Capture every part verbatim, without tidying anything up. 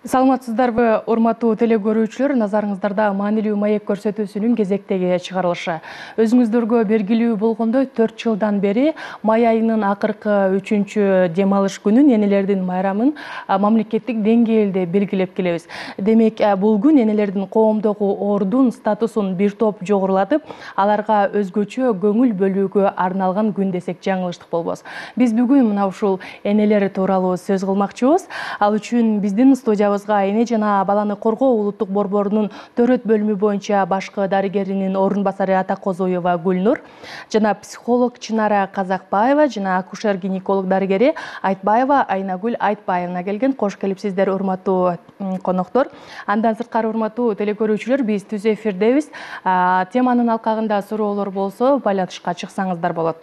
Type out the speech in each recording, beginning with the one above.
Саламатсыздарбы, урматтуу теле көрүүчүлөр, назарыңыздарда маанилүү маек көрсөтүүсүнүн кезектеги чыгарылышы. Өзүңүздөргө белгилүү болгондой, төрт жылдан бери май айынын акыркы үчүнчү дем алыш күнүн, энелердин майрамын мамлекеттик деңгээлде белгилеп келебиз. Демек, бул күн энелердин коомдогу ордун, статусун бир топ жогорулатып, аларга өзгөчө көңүл бөлүүгө арналган күн десек жаңылыштык болбос. Биз бүгүн мына ушул энелер тууралуу сөз кылмакчыбыз. Ал үчүн биздин студиябызга эне жана баланы коргоо улуттук борборунун төрөт бөлүмү боюнча башкы дарыгеринин орун басары Атакозоева Гүлнур, жана психолог Чынара Казакбаева, жана акушер-гинеколог дарыгери Айтбаева Айнагүл Айтбаевна келген. Кош келипсиздер, урматтуу коноктор. Андан сырткары, урматтуу теле көрүүчүлөр, биз түз эфирдебиз. Теманын алкагында суроолор болсо, байланышка чыксаңыздар болот.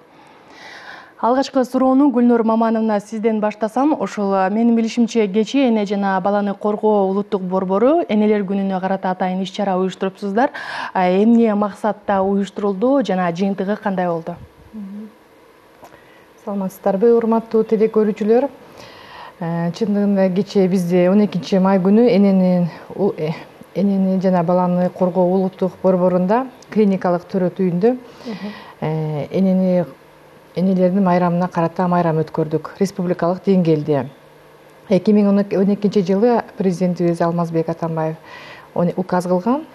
Алгачкы суроону Гүлнур Мамановна сизден баштасам. Ошол менин билишимче, кечээ эне жана баланы коргоо улуттук борбору энелер күнүнө карата атайын иш-чара уюштурупсуздар. Эмне максатта уюштурулду жана жыйынтыгы кандай болду? Саламатсыздарбы, урматтуу теле көрүүчүлөр. Чындыгында кечээ бизде он экинчи май күнү энени энени жана баланы коргоо улуттук борборунда клиникалык төрөт үйүндө энени энелердин майрамына карата майрам өткөрдүк республикалык деңгээлде. эки миң он экинчи жылы президентибиз Алмазбек Атамбаев указ кылган,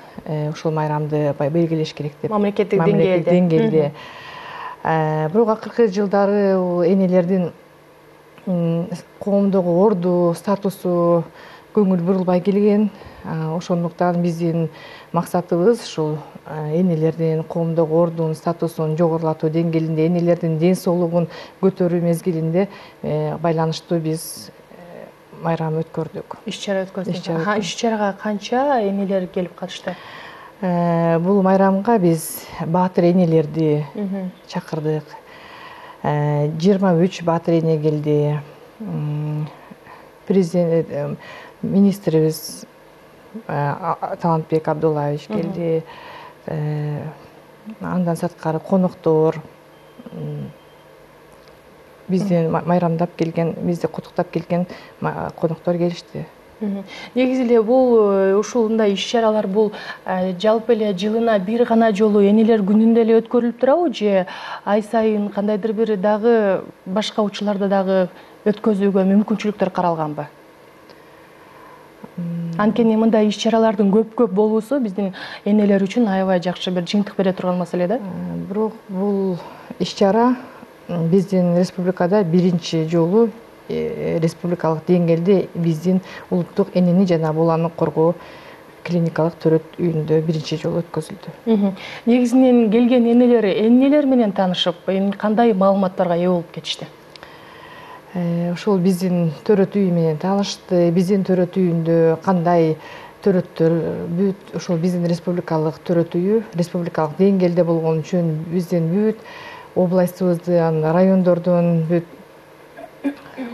ушул майрамды белгилеш керек деп. Мамлекеттик деңгээлде. Бирок акыркы жылдары энелердин коомдогу орду, статусу көңүл бурулбай келген. Ошондуктан биздин максатыбыз ушул энелердин коомдогу ордун, статусун жогорулатуу деңгээлинде, энелердин ден соолугун көтөрүү мезгилинде байланыштуу биз майрам өткөрдүк. Иш-чара өткөрдүк. Иш-чарага канча энелер келип катышты? Бул майрамга биз баатыр энелерди чакырдык. жыйырма үч баатыр эне келди. Президент министрибиз Талантбек Абдуллаевич келди. Андан сырткары коноктор, бизден майрамдап келген, бизди куттуктап келген коноктор келишти. Негизи эле бул ушундай иш-чаралар бул жалпы эле жылына бир гана жолу энелер күнүндө эле өткөрүлүп турабы, же ай сайын кандайдыр бир дагы башка учурларда дагы өткөзүүгө мүмкүнчүлүктөр каралганбы? Анткени мындай иш-чаралардын көп-көп болуусу биздин энелер үчүн аябай жакшы бир жыйынтык бере турган маселе да. Бирок бул иш-чара биздин республикада биринчи жолу республикалык деңгээлде биздин улуттук энени жана баланы коргоо клиникалык төрөт үйүндө биринчи жолу өткөзүлдү. Негизинен келген энелер эмнелер менен таанышып, кандай маалыматтарга ээ болуп кетишти? Ошол биздин төрөт үйү менен таанышты. Биздин төрөт үйүндө кандай төрөттөр бүт, ошол биздин республикалык төрөт үйү республикалык деңгээлде болгон үчүн биздин бүт областыбыздын, райондордун бүт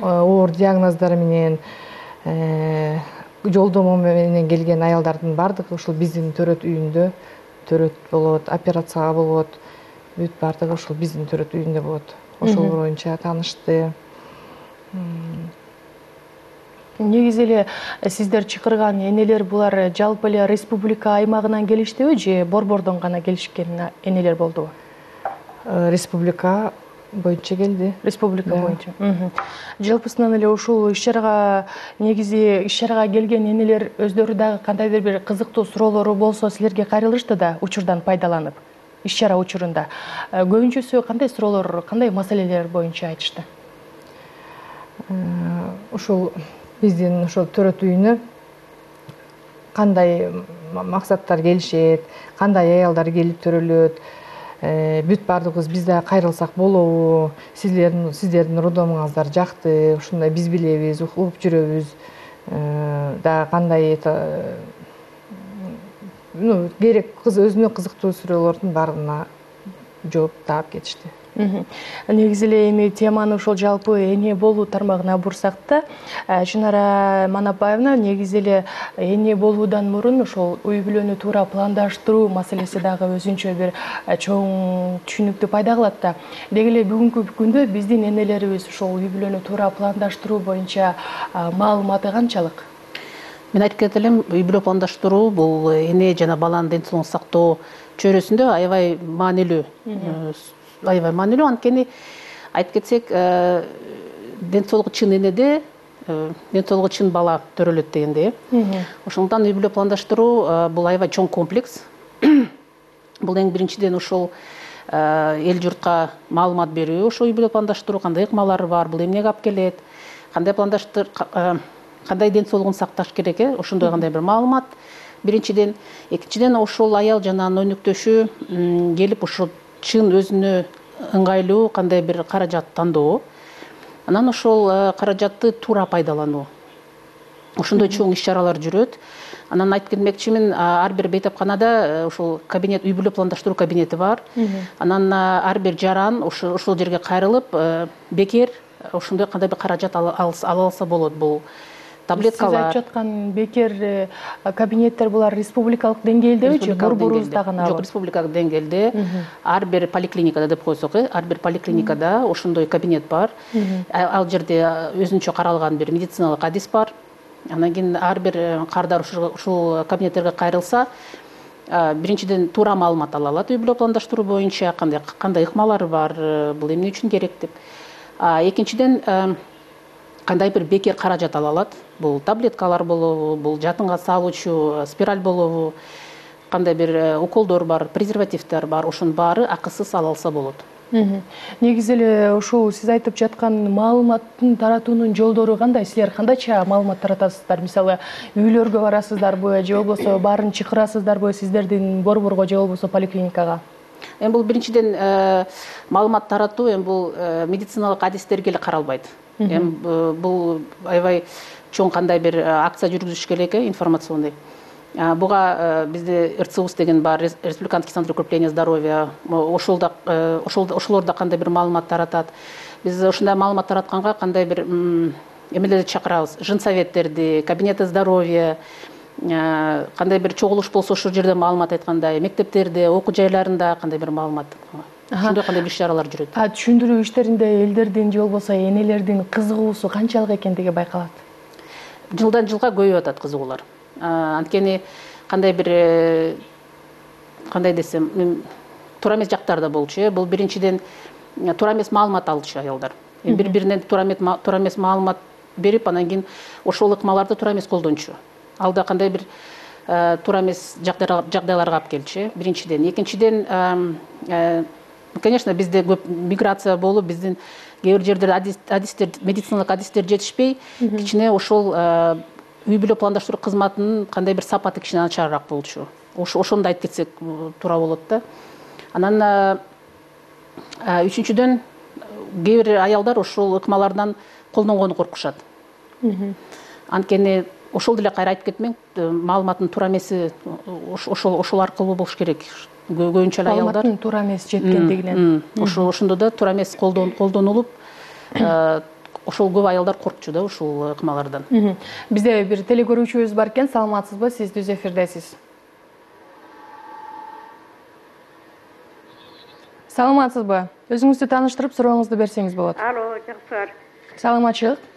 оор диагноздор менен, жолдомо менен келген аялдардын бардыгы ушул биздин төрөт үйүндө төрөт болот, операцияга болот, бүт бардыгы ушул биздин төрөт үйүндө болот. Ошол боюнча таанышты. Негизи эле сиздер чакырган энелер булар жалпы эле республика аймагынан келиштиби, же борбордон гана келишкен энелер болдубу? Республика боюнча келди. Республика боюнча. Жалпысынан эле ушул иш-чарага негизи иш-чарага келген энелер өздөрү дагы кандайдыр бир кызыктуу суроолору болсо силерге кайрылышты да, учурдан пайдаланып, иш-чара учурунда. Көбүнчөсү кандай суроолор, кандай маселелер боюнча айтышты? Ушул биздин ошол төрөт үйүнө кандай максаттар келишет, кандай аялдар келип төрөлөт, бүт бардыгыбыз биз да кайрылсак болобу, сиздердин сиздердин роддомуңуздар жакты, ушундай биз билебиз, угуп жүрөбүз, да кандай ну керек өзүнө кызыктуу суроолордун баарына жооп таап кетишти. Негизи эле эми теманы ошол жалпы эне болуу тармагына бурсак да, Чынара Манапаевна, негизи эле эне болуудан мурун ошол үй бүлөнү туура пландаштыруу маселеси дагы өзүнчө бир чоң түшүнүктү пайда кылат да. Деги эле бүгүнкү күндө биздин энелерибиз ошол үй бүлөнү туура пландаштыруу боюнча маалыматы канчалык? Мен айтып кетет элем, үй бүлө пландаштыруу бул эне жана баланын ден соолугун сактоо чөйрөсүндө аябай маанилүү. Аябай маанилүү, анткени айтып кетсек, ден соолугу чын энеде, ден соолугу чын бала төрөлөт дегенде. Ошондуктан үй бүлө пландаштыруу бул аябай чоң комплекс. Бул эң биринчиден ошол эл журтка маалымат берүү, ошол үй бүлө пландаштыруу кандай ыкмалары бар, бул эмнеге алып келет, кандай пландаштыр, кандай ден соолугун сакташ керек, э, ошондой кандай бир маалымат. Биринчиден, экинчиден ошол аял жана анын өнөктөшү келип ошо чын өзүнө ыңгайлуу кандай бир каражат тандоо, анан ошол каражатты туура пайдалануу. Ошондой чоң иш-чаралар жүрөт. Анан айтып кетмекчимин, ар бир бейтапканада ошол кабинет, үй бүлө пландаштыруу кабинети бар. Анан ар бир жаран ошол жерге кайрылып, бекер ошондой кандай бир каражат ала алса болот. Бул таблеткалар. Сиз айтып жаткан бекер кабинеттер булар республикалык деңгээлдеби же борборубузда гана? Жок, республикалык деңгээлде. Ар бир поликлиникада деп койсок, ар бир поликлиникада ошондой кабинет бар. Ал жерде өзүнчө каралган бир медициналык адис бар. Анан кийин ар бир кардар ушул кабинеттерге кайрылса, биринчиден туура маалымат ала алат үй бүлө пландаштыруу боюнча, кандай кандай ыкмалары бар, бул эмне үчүн керек деп. Экинчиден, кандай бир бекер каражат ала алат. Бул таблеткалар болобу, бул жатынга салуучу спираль болобу, кандай бир уколдор бар, презервативдер бар, ошонун баары акысыз ала алса болот. Негизи эле ошол сиз айтып жаткан маалыматтын таратуунун жолдору кандай? Силер кандайча маалымат таратасыздар? Мисалы, үйлөргө барасыздарбы же болбосо баарын чакырасыздарбы сиздердин борборго же болбосо поликлиникага? Эми бул биринчиден маалымат таратуу эми бул медициналык адистерге эле каралбайт. Эми бул аябай чоң кандай бир акция жүргүзүш керек, информационный. Буга бизде эр цэ у эс деген бар, Республиканский центр укрепления здоровья, ошолда ошолорда кандай бир маалымат таратат. Биз ушундай маалымат таратканга кандай бир эмелерди чакырабыз, жынсоветтерди, кабинеты здоровья, кандай бир чогулуш болсо ошол жерде маалымат айткандай, мектептерде, окуу жайларында кандай бир маалымат. Ошондой кандай бир иш-чаралар жүрөт. А түшүндүрүү иштеринде элдердин же болбосо энелердин кызыгуусу канчалык экендиги байкалат? Жылдан жылга көбөйүп атат кызыгуулар. Анткени кандай бир кандай десем, туура эмес жактар да болчу. Бул биринчиден туура эмес маалымат алчу аялдар. Бири-биринен туура эмес маалымат берип, анан кийин ошол ыкмаларды туура эмес колдончу. Ал да кандай бир туура эмес жагдайларга алып келчү. Биринчиден, экинчиден, конечно, бизде көп миграция болуп, биздин кээ бир жердерде адистер, медициналык адистер жетишпей, кичине ошол үй бүлө пландаштыруу кызматынын кандай бир сапаты кичине начарыраак болчу. Ошондо айтып кетсек туура болот да. Анан үчүнчүдөн, кээ бир аялдар ошол ыкмалардан колдонгону коркушат. Анткени ошол деле кайра айтып кетмек, маалыматтын туура эмеси ошол ошол аркылуу болуш керек. Көбүнчө аялдар маалыматтын туура эмес жеткендигинен. Ошондо да туура эмес колдонулуп, ошол көп аялдар коркчу да ушул ыкмалардан. Бизде бир телекөрүүчүбүз бар экен, саламатсызбы? Сиз түз эфирдесиз. Саламатсызбы? Өзүңүздү тааныштырып, сурооңузду берсеңиз болот. Алло, жакшылар. Саламатчылык.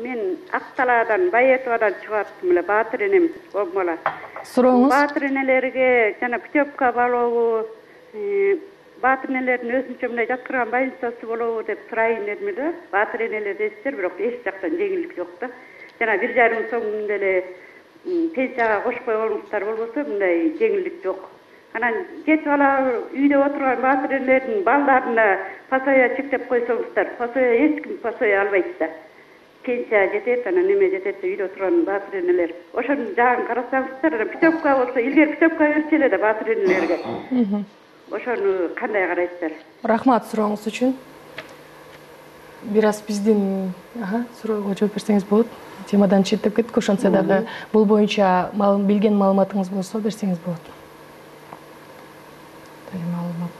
Мен Акталаадан, Байетовадан чыгаттым эле, Баатыр энем болмола. Сурооңуз? Баатыр энелерге жана Путевка болобу, Баатыр энелердин өзүнчө мындай жаткырган больницасы болобу деп сурайын дедим эле. Баатыр энелер дейсиздер, бирок эч жактан жеңилдик жок да. Жана бир жарым сом деле пенсияга кошпой коюңуздар болбосо мындай жеңилдик жок. Анан жети бала үйдө отурган Баатыр энелердин балдарына пасоя чектеп койсоңуздар, пасоя эч ким пасоя албайт да. Пенсия жетет, анан неме жетет, үйдө турган Баатыр энелер. Ошонун жагын карасаңыздар, анан Путевка болсо, илгери Путевка берчү эле да Баатыр энелерге. Ошону кандай карайсыздар? Рахмат сурооңуз үчүн. Бир аз биздин суроого жооп берсеңиз болот. Темадан четтеп кеттик, ошентсе дагы бул боюнча билген маалыматыңыз болсо берсеңиз болот. Маалымат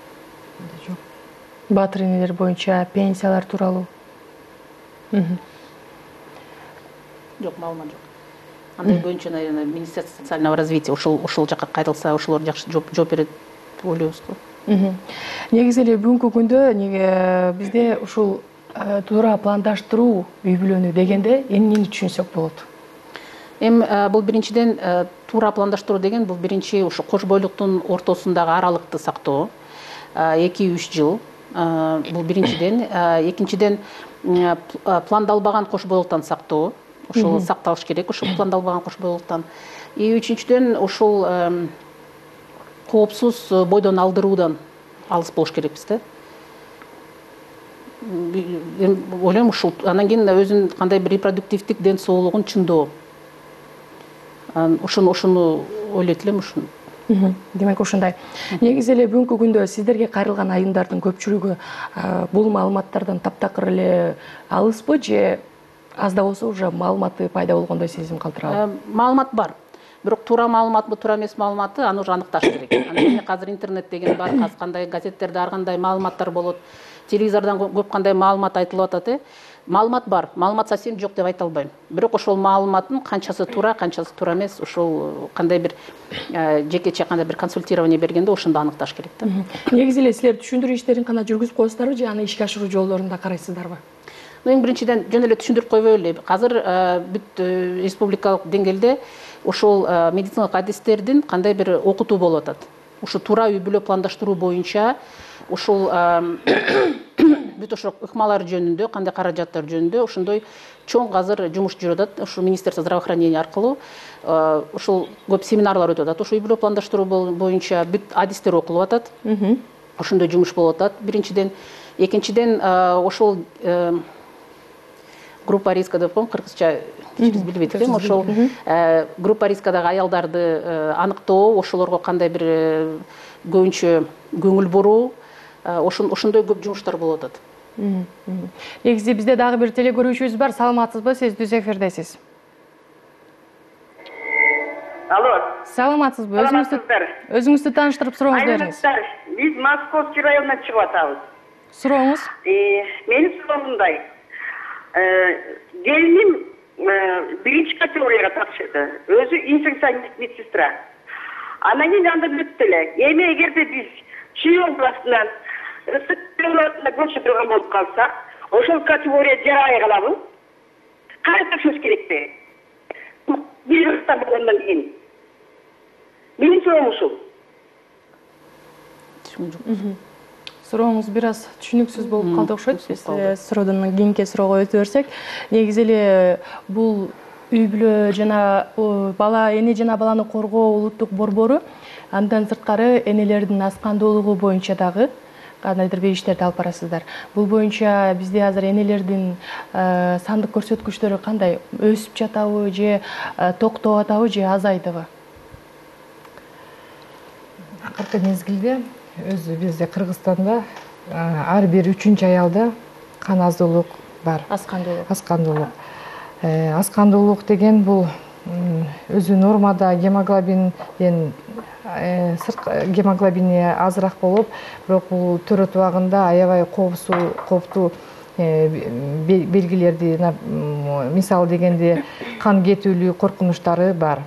жок. Баатыр энелер боюнча пенсиялар тууралуу. Жок, маалымат жок. Андай боюнча, наверное, Министерство социального развития ошол ошол жакка кайрылса, ошолор жакшы жооп берет деп ойлойбуз го. Негизи эле бүгүнкү күндө неге бизде ушул туура пландаштыруу үй бүлөнү дегенде эмнени түшүнсөк болот? Эми бул биринчиден туура пландаштыруу деген бул биринчи ушу кош бойлуктун ортосундагы аралыкты сактоо. эки үч жыл. Бул биринчиден. Экинчиден пландалбаган кош бойлуктан сактоо. Ошол сакталыш керек, ошол пландалбаган кош бойлуктан. И үчүнчүдөн ошол коопсуз бойдон алдыруудан алыс болуш керекпиз да. Ойлойм ушул анан кийин өзүнүн кандай бир репродуктивдик ден соолугун чындоо. Ошону ошону ойлойт элем ушуну. Демек ушундай. Негизи эле бүгүнкү күндө сиздерге кайрылган айымдардын көпчүлүгү бул маалыматтардан таптакыр эле алыспы же аз да болсо уже маалыматы пайда болгондой сезим калтырабы? Маалымат бар. Бирок туура маалыматпы, туура эмес маалыматты аны уже аныкташ керек. Анан азыр интернет деген бар, азыр кандай газеттерде ар кандай маалыматтар болот. Телевизордон көп кандай маалымат айтылып атат, э. Маалымат бар, маалымат совсем жок деп айта албайм. Бирок ошол маалыматтын канчасы туура, канчасы туура эмес, ошол кандай бир жекече кандай бир консультирование бергенде ошондо аныкташ керек да. Негизи эле силер түшүндүрүү иштерин кана жүргүзүп коесуздарбы же аны ишке ашыруу жолдорун да карайсыздарбы? Эң биринчиден жөн эле түшүндүрүп койбой эле. Азыр бүт республикалык деңгээлде ошол медициналык адистердин кандай бир окутуу болуп атат. Ушу туура үй бүлө пландаштыруу боюнча ушул бүт ошол ыкмалар жөнүндө, кандай каражаттар жөнүндө ошондой чоң азыр жумуш жүрүп атат. Ушул Министерство здравоохранения аркылуу ушул көп семинарлар өтүп атат. Ошол үй бүлө пландаштыруу боюнча бүт адистер окулуп атат. Ошондой жумуш болуп атат. Биринчиден, экинчиден ошол группа риска деп коем, кыргызча биз билбейт элем. Ошол группа рискадагы аялдарды аныктоо, ошолорго кандай бир көбүнчө көңүл буруу, ошондой көп жумуштар болуп атат. Негизи бизде дагы бир телекөрүүчүбүз бар. Саламатсызбы? Сиз түз эфирдесиз. Алло. Саламатсызбы? Өзүңүздү өзүңүздү тааныштырып сурооңузду бериңиз. Биз Московский районунан чыгып атабыз. Сурооңуз? Менин суроом мындай. Келиним биринчи категорияга тапшырды. Өзү инфекционист медсестра. Анан кийин анда бүттү эле. Эми эгерде биз чүй областынан ысык көчүп турган болуп калсак, ошол категория жарабай калабы? Кайра тапшырыш керекпи? Бир ырта болгондон кийин. Менин суроом ушул. Сурооңуз бир аз түшүнүксүз болуп калды окшойт. Биз суроодон кийинки суроого өтө берсек, негизи эле бул үй бүлө жана бала эне жана баланы коргоо улуттук борбору андан сырткары энелердин аскандуулугу боюнча дагы кандайдыр бир иштерди алып барасыздар. Бул боюнча бизде азыр энелердин сандык көрсөткүчтөрү кандай? Өсүп жатабы же токтоп атабы же азайдыбы? Акыркы мезгилде өзү бизде Кыргызстанда ар бир үчүнчү аялда кан аздуулук бар. Аскандуулук. Аскандуулук. Аскандуулук деген бул өзү нормада гемоглобинден гемоглобини азыраак болуп, бирок бул төрөт убагында аябай коопсуу, кооптуу белгилерди, мисалы дегенде кан кетүүлүү коркунучтары бар.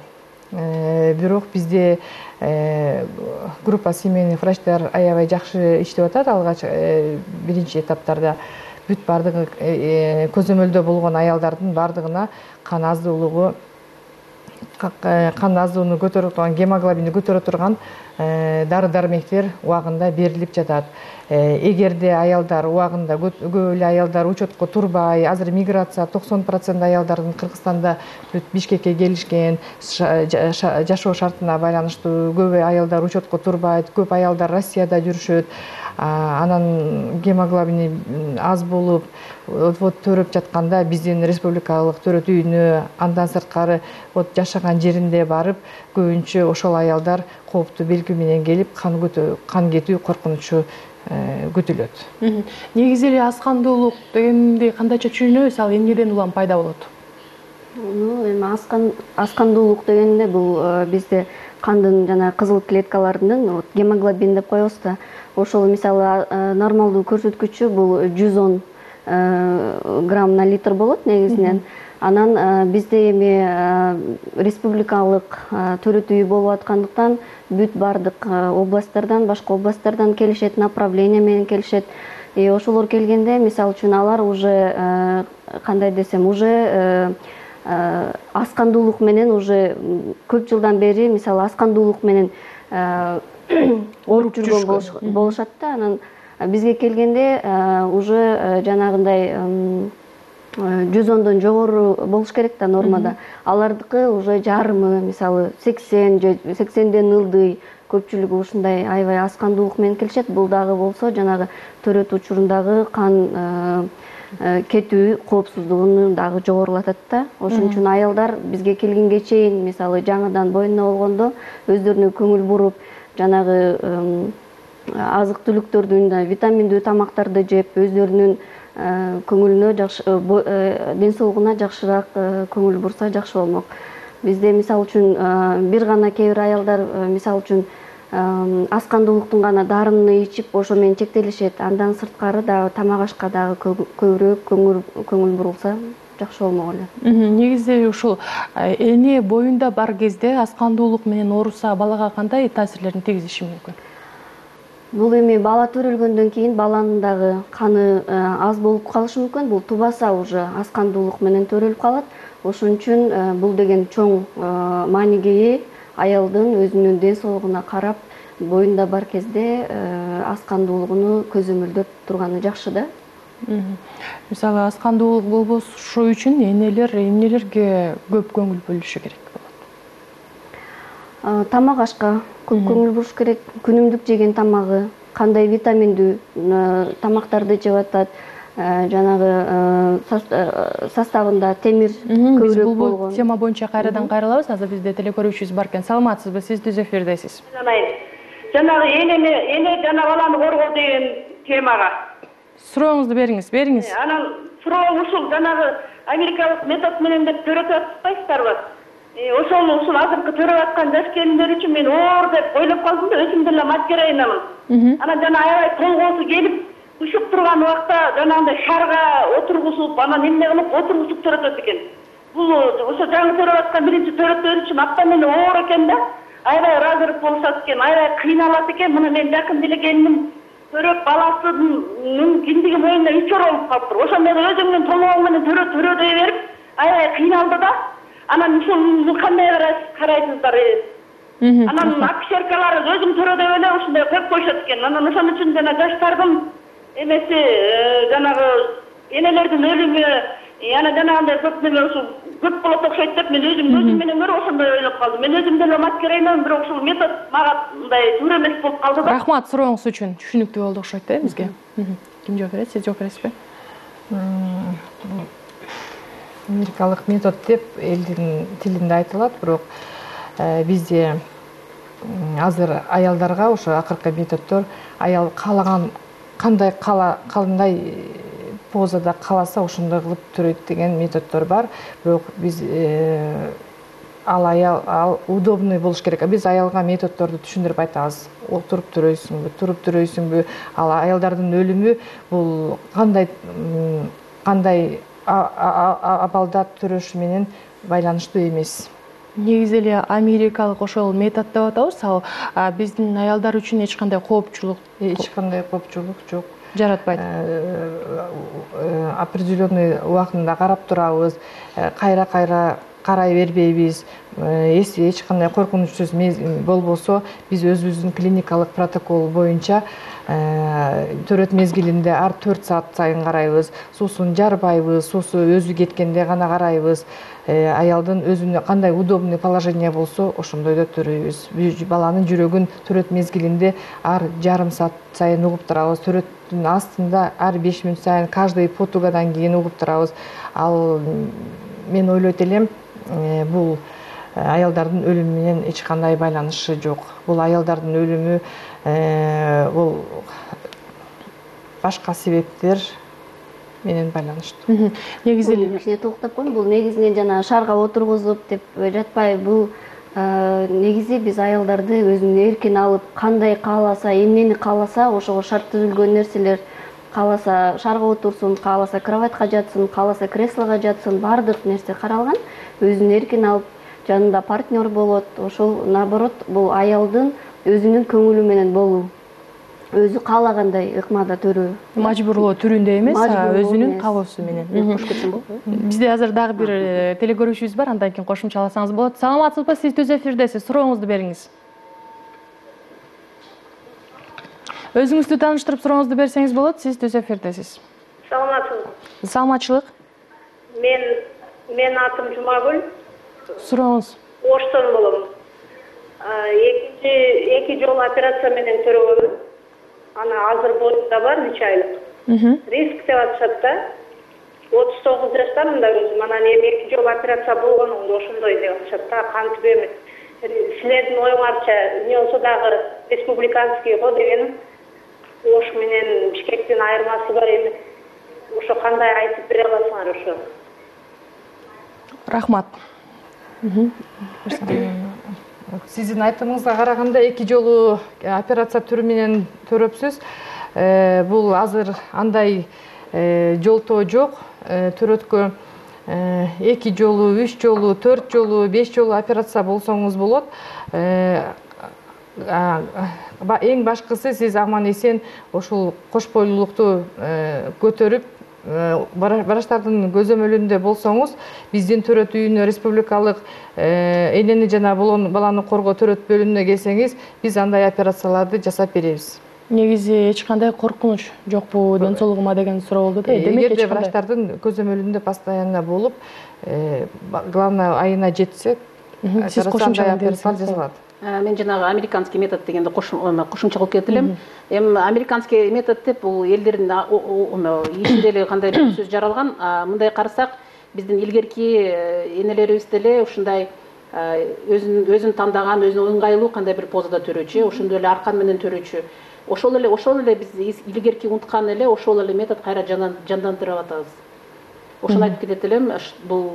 Бирок бизде группа семейных врачтар аябай жакшы иштеп атат. Алгач биринчи этаптарда бүт бардыгы көзөмөлдө болгон аялдардын бардыгына кан аздуулугу, кан аздууну көтөрө турган, гемоглобини көтөрө турган дары-дармектер убагында берилип жатат. Эгерде аялдар убагында көп эле аялдар учетко турбай, азыр миграция токсон процент аялдардын Кыргызстанда бүт Бишкекке келишкен, жашоо шартына байланыштуу көп аялдар учетко турбайт, көп аялдар Россияда жүрүшөт. Анан гемоглобини аз болуп, вот төрөп жатканда биздин республикалык төрөт үйүнө, андан сырткары вот жашаган жеринде барып, көбүнчө ошол аялдар кооптуу белги менен келип, кан кетүү коркунучу күтүлөт. Негизи эле аскандуулук дегенди кандайча түшүнөбүз? Ал эмнеден улам пайда болот? Эми аскандуулук дегенде бул бизде кандын жана кызыл клеткаларынын вот гемоглобин деп коебуз да, ошол мисалы нормалдуу көрсөткүчү бул жүз он грамм на литр болот негизинен. Анан бизде эми республикалык төрөт үйү болуп аткандыктан бүт бардык областтардан, башка областтардан келишет, направление менен келишет. И ошолор келгенде, мисалы үчүн алар уже кандай десем, уже аскандуулук менен уже көп жылдан бери мисалы аскандуулук менен ооруп жүргөн болушат да. Анан бизге келгенде уже жанагындай жүз ондон жогору болуш керек да нормада. Алардыкы уже жарымы, мисалы сексен же сексенден ылдый көпчүлүгү ушундай аябай аскандуулук менен келишет. Бул дагы болсо жанагы төрөт учурундагы кан кетүү коопсуздугун дагы жогорулатат да. Ошон үчүн аялдар бизге келгенге чейин мисалы жаңыдан боюна болгондо өздөрүнө көңүл буруп, жанагы азык түлүктөрдүн, витаминдүү тамактарды жеп, өздөрүнүн көңүлүнө жакшы, ден соолугуна жакшыраак көңүл бурса жакшы болмок. Бизде мисалы үчүн бир гана кээ бир аялдар мисалы үчүн аскандуулуктун гана дарынын ичип ошо менен чектелишет. Андан сырткары дагы тамак ашка дагы көбүрөөк көңүл бурулса жакшы болмок эле. Негизи ушул эне боюнда бар кезде аскандуулук менен ооруса балага кандай таасирлерин тийгизиши мүмкүн? Бул эми бала төрөлгөндөн кийин баланын дагы каны аз болуп калышы мүмкүн. Бул тубаса уже аскандуулук менен төрөлүп калат. Ошон үчүн бул деген чоң мааниге ээ. Аялдын өзүнүн ден соолугуна карап, боюнда бар кезде аскандуулугуну көзөмөлдөп турганы жакшы да. Мисалы аскандуулук болбошу үчүн энелер эмнелерге көп көңүл бөлүшү керек болот? Тамак ашка көп көңүл буруш керек. Күнүмдүк жеген тамагы, кандай витаминдүү тамактарды жеп атат, жанагы составында темир көбүрөөк болгон. Бул тема боюнча кайрадан кайрылабыз. Азыр бизде телекөрүүчүбүз бар экен. Саламатсызбы? Сиз түз эфирдесиз. Жанагы энени, эне жана баланы коргоо деген темага. Сурооңузду бериңиз, бериңиз. Анан суроо ушул жанагы америкалык метод менен деп төрөтүп атпайсыздарбы? Ошол ушул азыркы төрөп аткан жаш келиндер үчүн мен оор деп ойлоп калдым да, өзүм деле мать героинамын. Анан жана аябай толгоосу келип, ушуп турган убакта жанагындай шарга отургузуп, анан эмне кылып отургузуп төрөтөт экен. Бул ошо жаңы төрөп аткан биринчи төрөттөр үчүн аптан эле оор экен да. Аябай ыраазырып болушат экен, аябай кыйналат экен. Мына мен жакын деле келиним төрөп баласынын киндиги моюнда үч оор болуп калыптыр. Ошондо өзүңдүн толгоң менен төрө төрө дей берип, аябай кыйналды да. Анан ушул кандай карайсыздар? Анан акушеркалар өзүм төрө деп эле ушундай коюп коюшат экен. Анан ошон үчүн жана жаштардын эмеси жанагы энелердин өлүмү, яна жанагындай көп неме ушул көп болот окшойт деп мен өзүм өзүм менен көрүп ошондой ойлоп калдым. Мен өзүм деле мать героинамын, бирок ушул метод мага мындай туура эмес болуп калды да. Рахмат сурооңуз үчүн. Түшүнүктүү болду окшойт да бизге. Ким жооп берет? Сиз жооп бересизби? Америкалык метод деп элдин тилинде айтылат, бирок бизде азыр аялдарга ошо акыркы методдор аял каалаган кандай кандай позада кааласа ошондой кылып төрөйт деген методдор бар. Бирок биз ал аял ал удобный болуш керек. Биз аялга методдорду түшүндүрүп айтабыз. Отуруп төрөйсүңбү, туруп төрөйсүңбү? Ал аялдардын өлүмү бул кандай кандай абалда төрөшү менен байланыштуу эмес. Негизи эле америкалык ошол метод деп атабыз. Ал биздин аялдар үчүн эч кандай коопчулук, эч кандай коопчулук жок. Жаратпайт. Определенный убактында карап турабыз, кайра-кайра карай бербейбиз. Эси эч кандай коркунучсуз болбосо, биз өзүбүздүн клиникалык протокол боюнча төрөт мезгилинде ар төрт саат сайын карайбыз. Суусун жарбайбыз, суусу өзү кеткенде гана карайбыз. Аялдын өзүнө кандай удобный положение болсо, ошондойдо төрөйбүз. Баланын жүрөгүн төрөт мезгилинде ар жарым саат сайын угуп турабыз. Төрөттүн астында ар беш мүнөт сайын каждый потугадан кийин угуп турабыз. Ал мен ойлойт элем, бул аялдардын өлүмү менен эч кандай байланышы жок. Бул аялдардын өлүмү бул башка себептер менен байланыштуу. Негизи эле токтоп коеюн, бул негизинен жана шарга отургузуп деп жатпай, бул негизи биз аялдарды өзүнүн эркин алып, кандай кааласа, эмнени кааласа, ошого шарт түзүлгөн нерселер, кааласа шарга отурсун, кааласа кроватька жатсын, кааласа креслого жатсын, баардык нерсе каралган. Өзүн эркин алып, жанында партнер болот. Ошол наоборот, бул аялдын өзүнүн көңүлү менен болуу. Өзү каалагандай ыкмада төрөө. Мажбурлоо түрүндө эмес, өзүнүн каалоосу менен. Кош кетсем болобу? Бизде азыр дагы бир телегөрүүчүбүз бар, андан кийин кошумчаласаңыз болот. Саламатсызбы, сиз түз эфирдесиз. Сурооңузду бериңиз. Өзүңүздү тааныштырып сурооңузду берсеңиз болот, сиз түз эфирдесиз. Саламатсызбы? Саламатчылык. Мен мен атым Жумагүл. Сурооңуз. Оштон болом. Экинчи эки жолу операция менен төрөгөнмүн. Ана азыр боюмда бар, нече айлык. Риск деп атышат да. отуз тогуз жаштамын да өзүм. Анан эми эки жолу операция болгонумда ошондой деп атышат да. Кантип эми силердин оюңарча эмне болсо дагы республиканский го деген. Ош менен Бишкектин айырмасы бар эми. Ошо кандай айтып бере аласыңар ошо? Рахмат. Сиздин айтымыңызга караганда эки жолу операция түрү менен төрөпсүз. Бул азыр андай жолтоо жок. Төрөткө эки жолу, үч жолу, төрт жолу, беш жолу операция болсоңуз болот. Эң башкысы сиз аман эсен ошол кош бойлуулукту көтөрүп врачтардын көзөмөлүндө болсоңуз, биздин төрөт үйүнө, республикалык энени жана баланы коргоо төрөт бөлүмүнө келсеңиз, биз андай операцияларды жасап беребиз. Негизи эч кандай коркунуч жокпу ден соолугума деген суроо болду да. Эгерде врачтардын көзөмөлүндө постоянно болуп, главное айына жетсе, сиз кошумча операция жасалат. Мен жанагы американский метод дегенди кошумча кылып кетип элем. Эми американский метод деп бул элдердин ичинде эле кандай бир сөз жаралган. Мындай карасак, биздин илгерки энелерибиз деле ушундай өзүн өзүн тандаган, өзүнө ыңгайлуу кандай бир позада төрөчү, ошондой эле аркан менен төрөчү. Ошол эле ошол эле биз илгерки унуткан эле ошол эле метод кайра жандандырып атабыз. Ошону айтып кетет элем. Бул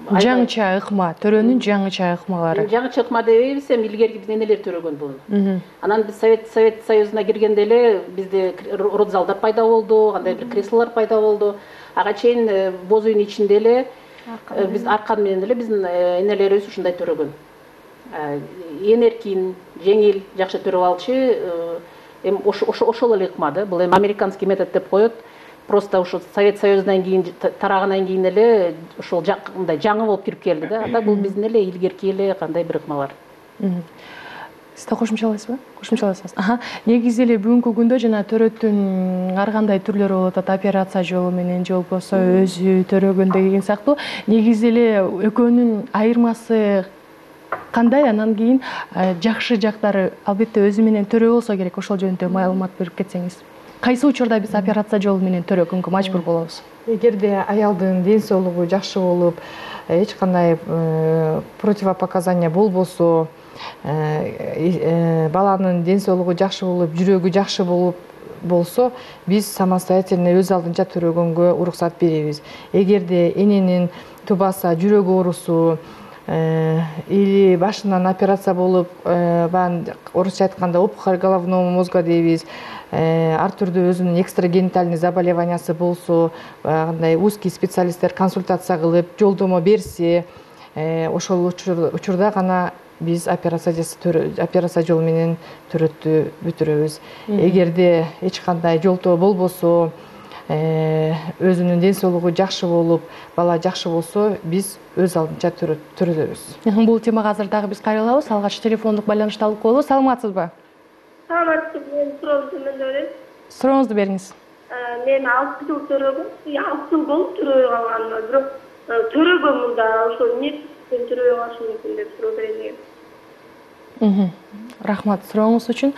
жаңыча ыкма, төрөнүн жаңыча ыкмалары. Жаңыча ыкма дебейбиз, эми илгерки биздин энелер төрөгөн буну. Анан биз Совет Совет Союзуна киргенде эле бизде родзалдар пайда болду, кандай бир креслолор пайда болду. Ага чейин боз үйүнүн ичинде эле биз аркан менен эле биздин энелерибиз ушундай төрөгөн. Эң эркин, жеңил, жакшы төрөп алчу. Эми ошол эле ыкма да. Бул эми американский метод деп коет. Просто ошо Совет Союзунан кийин тарагандан кийин эле ошол мындай жаңы болуп кирип келди да. Анда бул биздин эле илгерки эле кандай бир ыкмалар. Сиз да кошумчалайсызбы? Кошумчалайсыз. Аха. Негизи эле бүгүнкү күндө жана төрөттүн ар кандай түрлөрү болуп атат. Операция жолу менен же болбосо өзү төрөгөн деген сыяктуу. Негизи эле экөөнүн айырмасы кандай? Анан кийин жакшы жактары албетте өзү менен төрөө болсо керек. Ошол жөнүндө маалымат берип кетсеңиз. Кайсы учурда биз операция жолу менен төрөгөнгө мажбур болобуз? Эгерде аялдын ден соолугу жакшы болуп, эч кандай противопоказания болбосо, баланын ден соолугу жакшы болуп, жүрөгү жакшы болуп болсо, биз самостоятельно өз алдынча төрөгөнгө уруксат беребиз. Эгерде эненин тубаса, жүрөк оорусу или башынан операция болуп, орусча айтканда опухоль головного мозга дейбиз, ар түрдүү өзүнүн экстрагенитальный заболеваниясы болсо, кандай узкий специалисттер консультация кылып, жолдомо берсе, ошол учурда гана биз операция операция жолу менен төрөттү бүтүрөбүз. Эгерде эч кандай жолтоо болбосо, өзүнүн ден соолугу жакшы болуп, бала жакшы болсо, биз өз алдынча төрөбүз. Бул темага азыр дагы биз кайрылабыз. Алгач телефондук байланышты алып коелу. Саламатсызбы? Саламатсызбы, мен суроомду мен берем. Сурооңузду бериңиз. Мен алты жыл төрөгөм. алты жыл болуп төрөбөй калган. Бирок төрөгөм мында ошо эмне үчүн төрөбөй калышым мүмкүн деп суроо берейин дегем. Рахмат сурооңуз үчүн.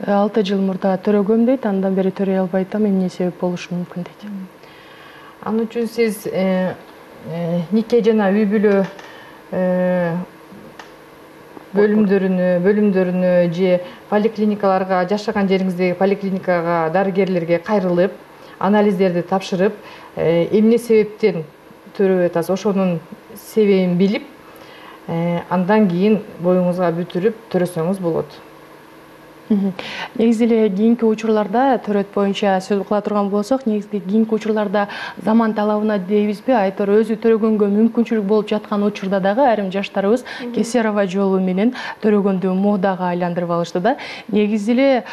алты жыл мурда төрөгөм дейт, андан бери төрөй албай атам, эмне себеп болушу мүмкүн дейт. Ал үчүн сиз нике жана үй бүлө бөлүмдөрүнө, бөлүмдөрүнө же поликлиникаларга, жашаган жериңиздеги поликлиникага, дарыгерлерге кайрылып, анализдерди тапшырып, эмне себептен төрөп атасыз, ошонун себебин билип, Андан кийин боюңузга бүтүрүп төрөсөңүз болот. Негизи эле кийинки учурларда төрөт боюнча сөз кыла турган болсок, негизи кийинки учурларда заман талабына дейбизби, айтор өзү төрөгөнгө мүмкүнчүлүк болуп жаткан учурда дагы айрым жаштарыбыз кесарево жолу менен төрөгөндү модага айландырып алышты да. Негизи эле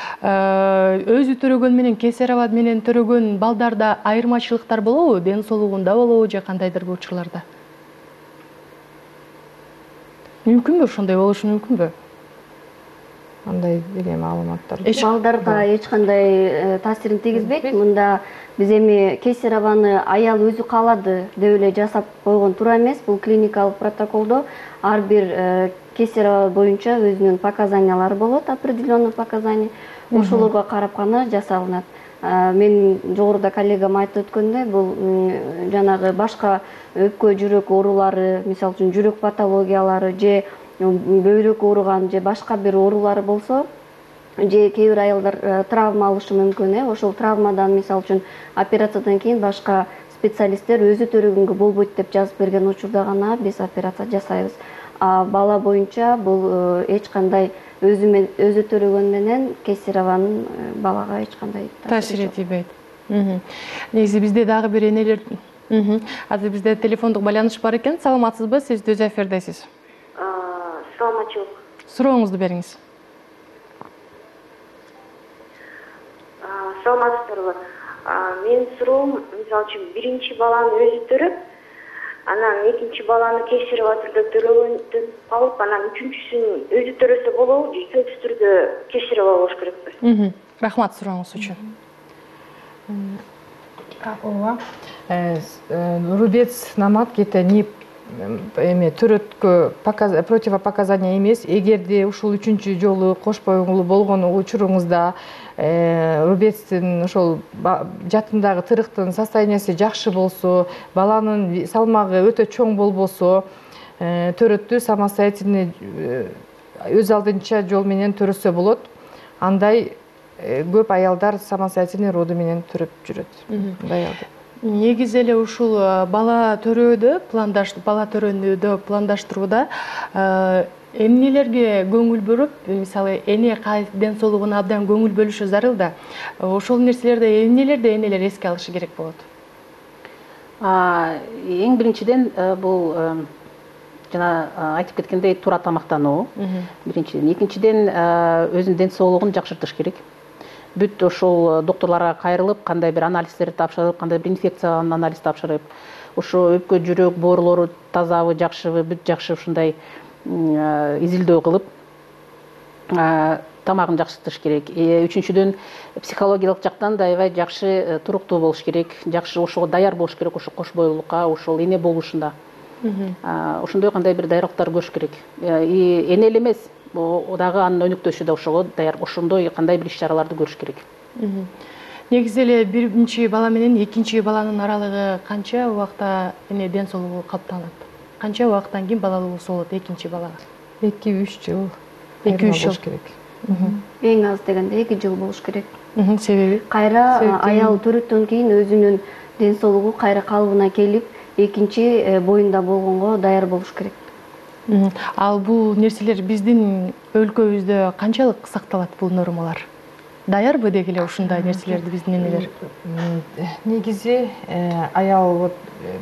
өзү төрөгөн менен кесарево менен төрөгөн балдарда айырмачылыктар болобу, ден соолугунда болобу же кандайдыр бир учурларда? Мүмкүнбү, ошондой болушу мүмкүнбү? Андай деген маалыматтар. Балдарга эч кандай таасирин тийгизбейт. Мында биз эми кесареваны аял өзү каалады деп эле жасап койгон туура эмес. Бул клиникалык протоколдо ар бир кесарево боюнча өзүнүн показаниялары болот, определенный показания. Ошолорго карап гана жасалынат. Мен жогоруда коллегам айтып өткөндөй, бул жанагы башка өпкө жүрөк оорулары, мисалы үчүн жүрөк патологиялары же бөйрөк ооруган же башка бир оорулары болсо, же кээ бир аялдар травма алышы мүмкүн. Ошол травмадан мисалы үчүн операциядан кийин башка специалисттер өзү төрөгөнгө болбойт деп жазып берген учурда гана биз операция жасайбыз. А бала боюнча бул эч кандай өзү өзү төрөгөн менен кесареванын балага эч кандай таасир этпейт. Негизи бизде дагы бир энелер, азыр бизде телефондук байланыш бар экен. Саламатсызбы? Сиз Түз эфирдесиз. Саламатчылык. Сурооңузду бериңиз. Саламатсыздарбы? Менин суроом, мисалы үчүн биринчи баланы өзү төрөп, анан экинчи баланы кесарево түрдө төрөгөндөн алып, анан үчүнчүсүн өзү төрөсө болобу, же сөзсүз түрдө кесарево болуш керекпи? Рахмат сурооңуз үчүн. Ооба. Рубец намат кете не эме төрөткө противопоказания эмес. Эгерде ушул үчүнчү жолу кош боюңулуу болгон учуруңузда рубецтин ошол жатындагы тырыктын состояниясы жакшы болсо, баланын салмагы өтө чоң болбосо, төрөттү самостоятельный өз алдынча жол менен төрөсө болот. Андай көп аялдар самостоятельный роду менен төрөп жүрөт. Негизи эле ушул бала төрөөдө, пландаш бала төрөөнүдө пландаштырууда эмнелерге көңүл бөлүп, мисалы эне ден соолугуна абдан көңүл бөлүшү зарыл да. Ошол нерселерде эмнелерди энелер эске алышы керек болот? Эң биринчиден бул жана айтып кеткендей туура тамактануу. Биринчиден, экинчиден өзүнүн ден соолугун жакшыртыш керек. Бүт ошол докторлорго кайрылып, кандай бир анализдерди тапшырып, кандай бир инфекциянын анализ тапшырып, ошо өпкө жүрөк боорулору тазабы, жакшыбы, бүт жакшы ушундай изилдөө кылып, тамагын жакшыртыш керек. Үчүнчүдөн, психологиялык жактан да аябай жакшы туруктуу болуш керек, жакшы ошого даяр болуш керек, ошо кош бойлуулукка, ошол эне болушунда. Ошондой кандай бир даярдыктар көрүш керек. Эне эле эмес, дагы анын өнөктөшү да ошого даяр, ошондой кандай бир иш-чараларды көрүш керек. Негизи эле биринчи бала менен экинчи баланын аралыгы канча убакта эне ден соолугу калыптанат? Канча убакыттан кийин балалуулук болот экинчи балага? эки үч жыл. эки үч жыл керек. Эң аз дегенде эки жыл болуш керек. Себеби? Кайра аял төрөттөн кийин өзүнүн ден соолугу кайра калыбына келип, экинчи боюнда болгонго даяр болуш керек. Ал бул нерселер биздин өлкөбүздө канчалык сакталат бул нормалар? Даярбы деги эле ушундай нерселерди биздин энелер? Негизи аял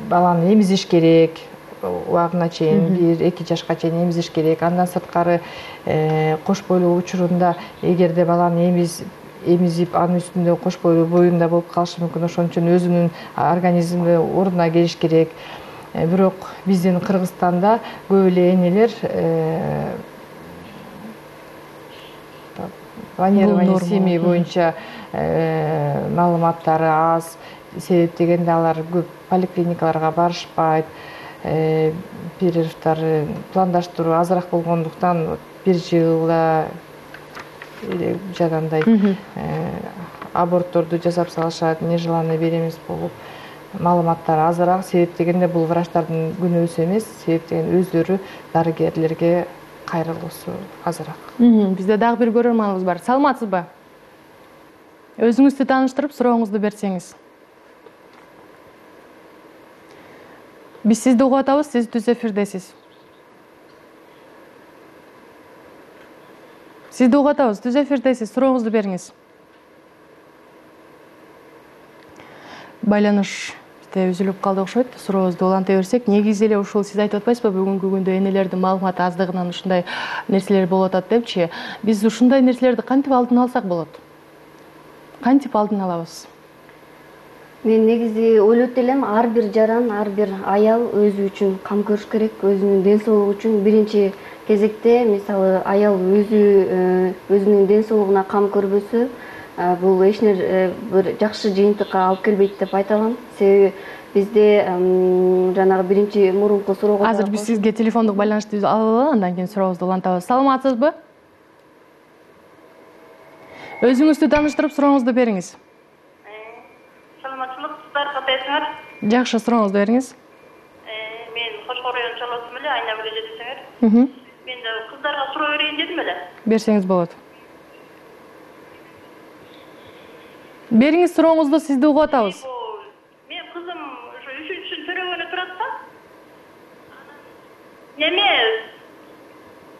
баланы эмизиш керек, убагына чейин бир эки жашка чейин эмизиш керек. Андан сырткары кош бойлуу учурунда эгерде баланы эмиз эмизип, анын үстүндө кош бойлуу боюнда болуп калышы мүмкүн. Ошон үчүн өзүнүн организми ордуна келиш керек. Бирок биздин Кыргызстанда көп эле энелер планирование семьи боюнча маалыматтары аз, себеп дегенде алар көп поликлиникаларга барышпайт. Перерывтары пландаштыруу азыраак болгондуктан бир жылда жанагындай абортторду жасап салышат, нежеланный беременность болуп, маалыматтар азыраак, себеп дегенде бул врачтардын күнөөсү эмес, себеп деген өздөрү дарыгерлерге кайрылуусу азыраак. Бизде дагы бир көрөрманыбыз бар. Саламатсызбы? Өзүңүздү тааныштырып, сурооңузду берсеңиз. Биз сизди угуп атабыз, сиз Түз эфирдесиз. Сизди угуп атабыз. Түз эфирдесиз. Сурооңузду бериңиз. Байланыш үзүлүп калды окшойт. Сурообузду уланта берсек, негизи эле ушул сиз айтып атпайсызбы, бүгүнкү күндө энелердин маалыматы аздыгынан ушундай нерселер болуп атат депчи. Биз ушундай нерселерди кантип алдын алсак болот? Кантип алдын алабыз? Мен негизи ойлойт элем, ар бир жаран, ар бир аял өзү үчүн кам көрүш керек, өзүнүн ден соолугу үчүн. Биринчи кезекте, мисалы, аял өзү өзүнүн ден соолугуна кам көрбөсө, бул эч нерсе бир жакшы жыйынтыкка алып келбейт деп айта алам. Себеби бизде жанагы биринчи мурунку суроого азыр биз сизге телефондук байланышты алалы, андан кийин сурообузду улантабыз. Саламатсызбы? Өзүңүздү тааныштырып, сурооңузду бериңиз. Саламатчылык, кыздар катайсыңар? Жакшы, сурооңузду бериңиз. Мен Кошкор районунун чаласымын эле, айна беле жетесеңер. Мен да кыздарга суроо берейин дедим эле. Берсеңиз болот. Бериңиз сурооңузду, сизди угуп атабыз. Мен кызым ушу үчүнчү төрөгөнү турат да. Неме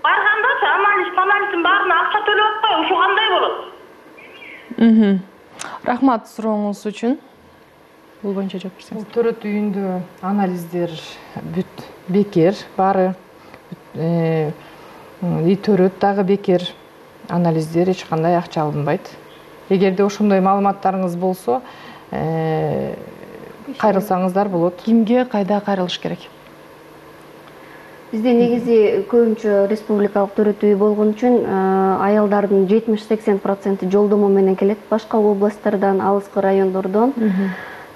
баргандачы анализ, анализдин баарына акча төлөп атпайбы, ушу кандай болот? Рахмат сурооңуз үчүн. Бул боюнча жооп берсеңиз. Төрөт үйүндө анализдер бүт бекер, баары и төрөт дагы бекер. Анализдер эч кандай акча алынбайт. Эгерде ошондой маалыматтарыңыз болсо, кайрылсаңыздар болот. Кимге, кайда кайрылыш керек? Бизде негизи көбүнчө республикалык төрөт үй болгон үчүн аялдардын жетимиш сексен проценти жолдомо менен келет, башка областтардан, алыскы райондордон.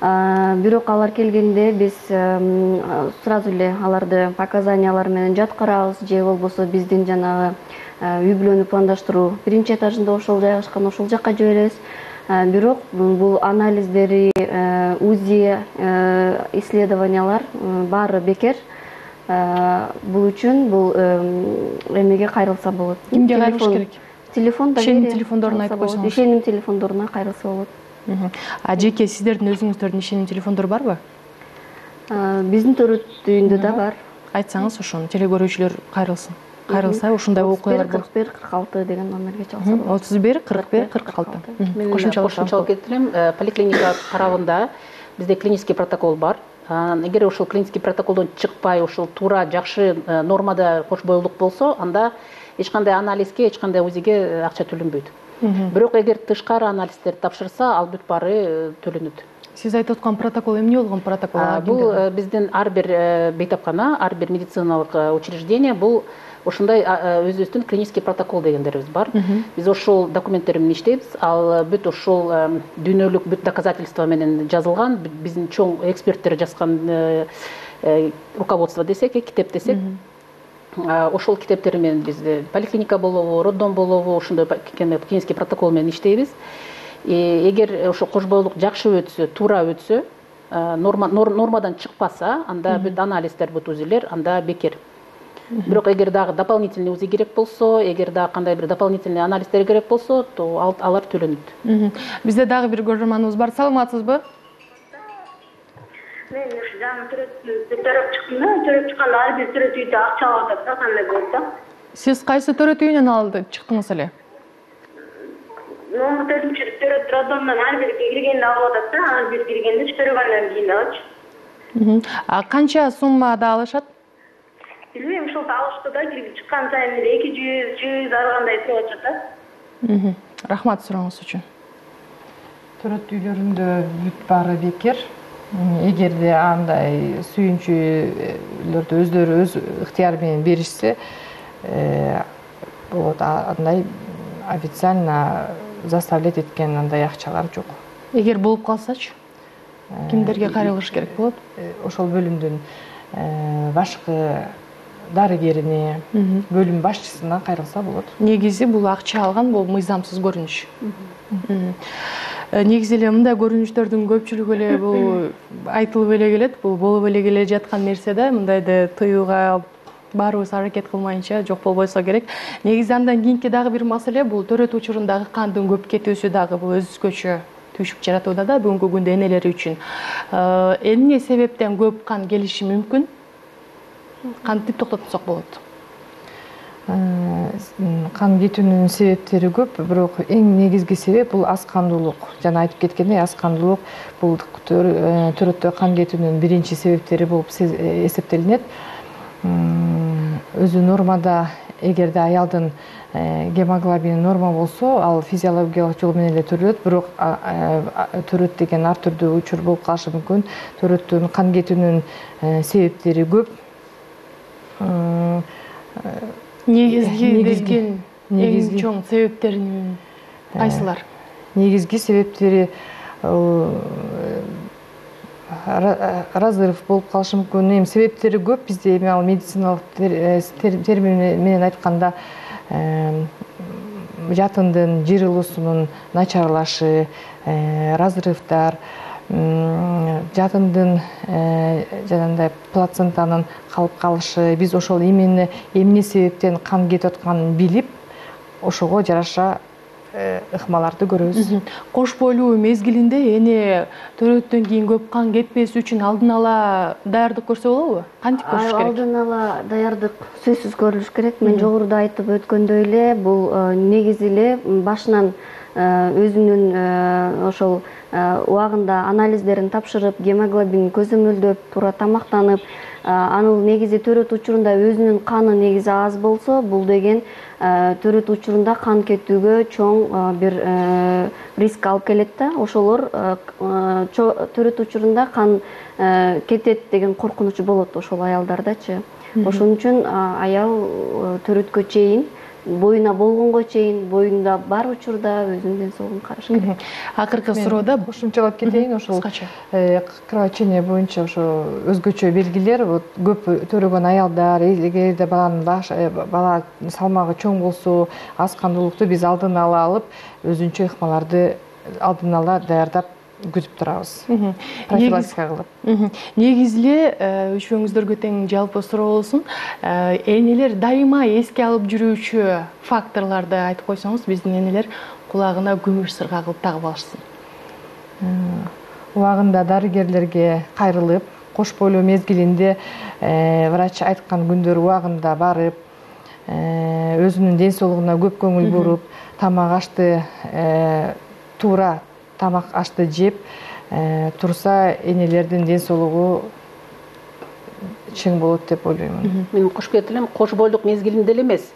Бирок алар келгенде биз сразу эле аларды показаниялар менен жаткырабыз, же болбосо биздин жанагы үй бүлөнү пландаштыруу биринчи этажында ошол жайгашкан, ошол жакка жиберебиз. Бирок бул анализдери, УЗИ, исследованиялар баары бекер. Бул үчүн бул эмеге кайрылса болот. Кимге кайрылыш керек? Телефон да ишеним телефондоруна айтып койсоңуз. Ишеним телефондоруна кайрылса болот. А жеке сиздердин өзүңүздөрдүн ишеним телефондору барбы? Биздин төрөт үйүндө да бар. Айтсаңыз, ошону теле көрүүчүлөр кайрылсын. Кайрылса ушундай окуялар болот. отуз бир кырк алты деген номерге чалса болот. отуз бир кырк бир кырк алты. Мен кошумчалык кетирем. Поликлиника тарабында бизде клинический протокол бар. Эгер ошол клинический протоколдон чыкпай, ошол туура жакшы нормада кош бойлук болсо, анда эч кандай анализге, эч кандай УЗИге акча төлөнбөйт. Бирок эгер тышкары анализдерди тапшырса, ал бүт баары төлөнөт. Сиз айтып аткан протокол эмне болгон протокол? Бул биздин ар бир бейтапкана, ар бир медициналык учреждение бул ошондой өзүбүздүн клинический протокол дегендерибиз бар. Биз ошол документтер менен иштейбиз. Ал бүт ошол дүйнөлүк бүт доказательство менен жазылган, биздин чоң эксперттер жазган руководство десек, китеп десек. Ошол китептер менен биз поликлиника болобу, роддом болобу, ошондой клинический протокол менен иштейбиз. Эгер ошо кош бойлук жакшы өтсө, туура өтсө, нормадан чыкпаса, анда бүт анализдер, бүт УЗИлер анда бекер. Бирок эгер дагы дополнительный УЗИ керек болсо, эгер дагы кандай бир дополнительный анализдер керек болсо, то алар төлөнөт. Бизде дагы бир көрөрманыбыз бар. Саламатсызбы? Мен ушу жаңы төрөп чыктым да, төрөп чыкканда ар бир төрөт үйдө акча алып атат да, кандай болот да? Сиз кайсы төрөт үйүнөн алды чыктыңыз эле? номер төртүнчү төрөт роддомдон ар бир киргенде алып атат да, ар бир киргенде төрөгөндөн кийин дагычы. А канча суммада алышат? Билбейм, ошол алышты да, кирип чыккан сайын эле эки жүз, жүз ар кандай туруп атышат да. Рахмат сурооңуз үчүн. Төрөт үйлөрүндө бүт баары бекер. Эгерде андай сүйүнчүлөрдү өздөрү өз ыктыяры менен беришсе, болот, андай официально заставлять эткен андай акчалар жок. Эгер болуп калсачы, кимдерге кайрылыш керек болот? Ошол бөлүмдүн башкы дарыгерине, бөлүм башчысына кайрылса болот. Негизи бул акча алган, бул мыйзамсыз көрүнүш. Негизи эле мындай көрүнүштөрдүн көпчүлүгү эле бул айтылып эле келет, бул болуп эле келе жаткан нерсе да, мындайды тыюуга баарыбыз аракет кылмайынча жок болбойсо керек. Негизи андан кийинки дагы бир маселе бул төрөт учурундагы кандын көп кетүүсү дагы бул өзгөчө түйшүк жаратууда да бүгүнкү күндө энелер үчүн. Эмне себептен көп кан келиши мүмкүн? Кантип токтотсок болот? Кан кетүүнүн себептери көп, бирок эң негизги себеп бул аз кандуулук. Жана айтып кеткендей, аз кандуулук бул төрөттө кан кетүүнүн биринчи себептери болуп эсептелинет. Өзү нормада, эгерде аялдын гемоглобини норма болсо, ал физиологиялык жол менен эле төрөлөт, бирок төрөт деген ар түрдүү учур болуп калышы мүмкүн. Төрөттүн кан кетүүнүн себептери көп. Негизги деген эң чоң себептерин кайсылар? Негизги себептери разрыв болуп калышы мүмкүн. Эми себептери көп. Бизде эми ал медициналык термин менен айтканда жатындын жыйрылуусунун начарлашы, разрывдар, жатындын жанагындай плацентанын калып калышы. Биз ошол эмне эмне себептен кан кетип атканын билип, ошого жараша ыкмаларды көрөбүз. Кош бойлуу мезгилинде эне төрөттөн кийин көп кан кетпеш үчүн алдын ала даярдык көрсө болобу? Кантип көрүш керек? Алдын ала даярдык сөзсүз көрүлүш керек. Мен жогоруда айтып өткөндөй эле, бул негизи эле башынан өзүнүн ошол убагында анализдерин тапшырып, гемоглобин көзөмөлдөп, туура тамактанып, анын негизи төрөт учурунда өзүнүн каны негизи аз болсо, бул деген төрөт учурунда кан кетүүгө чоң бир риск алып келет да. Ошолор төрөт учурунда кан кетет деген коркунучу болот ошол аялдардачы. Ошон үчүн аял төрөткө чейин, боюна болгонго чейин, боюнда бар учурда өзүнүн ден соолугун караш керек. Акыркы суроодо кошумчалап кетейин, ошол кровотечение боюнча ошо өзгөчө белгилер, көп төрөгөн аялдар, эгерде баланын бала салмагы чоң болсо, аз кандуулукту биз алдын ала алып, өзүнчө ыкмаларды алдын ала даярдап күтүп турабыз. Профилактика кылып. Негизи эле үчөөңүздөргө тең жалпы суроо болсун. Энелер дайыма эске алып жүрүүчү факторлорду айтып койсоңуз, биздин энелер кулагына күмүш сырга кылып тагып алышсын. Убагында дарыгерлерге кайрылып, кош бойлуу мезгилинде врач айткан күндөр убагында барып, өзүнүн ден соолугуна көп көңүл буруп, тамак ашты туура тамак ашты жеп турса, энелердин ден соолугу чың болот деп ойлоймун. Мен кошуп кетип элем, кош бойлук мезгилинде эле эмес.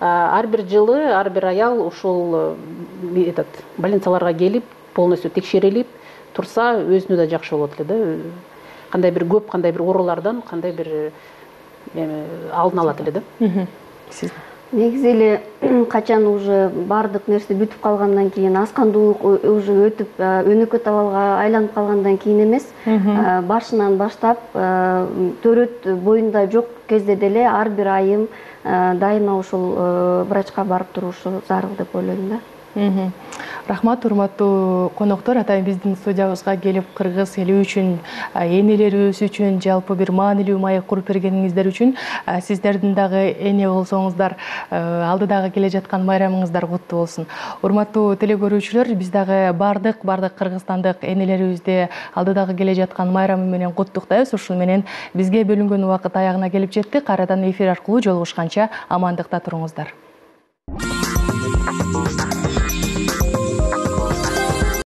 Ар бир жылы ар бир аял ушул этот больницаларга келип, полностью текшерилип турса, өзүнө да жакшы болот эле да. Кандай бир көп, кандай бир оорулардан, кандай бир алдын алат эле да. Сиз Негизи эле качан уже бардык нерсе бүтүп калгандан кийин, аз кандуулук уже өтүп, өнөкөт абалга айланып калгандан кийин эмес, башынан баштап төрөт боюнда жок кезде деле ар бир айым дайыма ушул врачка барып турушу зарыл деп ойлойм да. Рахмат, урматтуу коноктор, атайын биздин студиябызга келип кыргыз эли үчүн, энелерибиз үчүн жалпы бир маанилүү маек куруп бергениңиздер үчүн, сиздердин дагы эне болсоңуздар, алдыдагы келе жаткан майрамыңыздар куттуу болсун. Урматтуу телекөрүүчүлөр, биз дагы бардык бардык кыргызстандык энелерибизди алдыдагы келе жаткан майрамы менен куттуктайбыз. Ушул менен бизге бөлүнгөн убакыт аягына келип жетти. Кайрадан эфир аркылуу жолугушканча амандыкта туруңуздар.